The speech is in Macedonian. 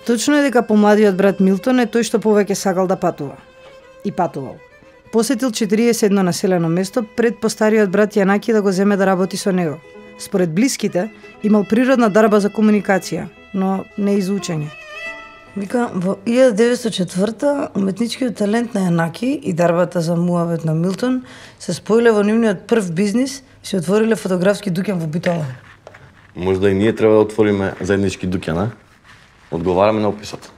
Точно е дека помладиот брат Милтон е тој што повеќе сакал да патува. И патувал. Посетил 41 населено место пред постариот брат Јанаки да го земе да работи со него. Според блиските, имал природна дарба за комуникација, но не и за учење. Вика, во 1904 уметничкиот талент на Јанаки и дарбата за муавет на Милтон се споиле во нивниот прв бизнис и се отвориле фотографски дуќан во Битола. Можда и ние треба да отвориме заеднички дуќан, а? Одговараме на описот.